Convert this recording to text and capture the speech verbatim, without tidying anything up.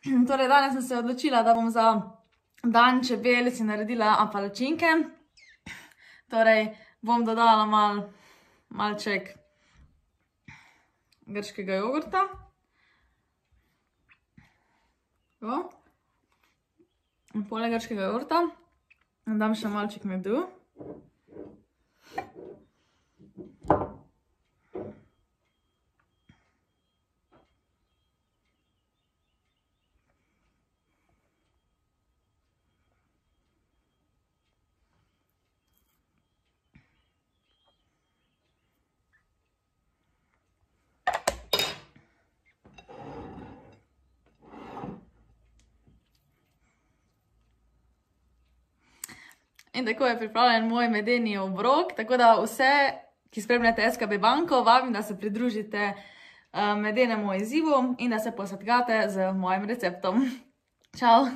Torej, danes sem se odločila, da bom za dan čebel si naredila palačinke. Torej, bom dodala mal, malček grškega jogurta. Tako. In poleg grškega jogurta dam še malček medu. In tako je pripravljen moj medeni obrok, tako da vse, ki spremljate S K B banko, vabim, da se pridružite medenemu izzivu in da se posvetkate z mojim receptom. Čau!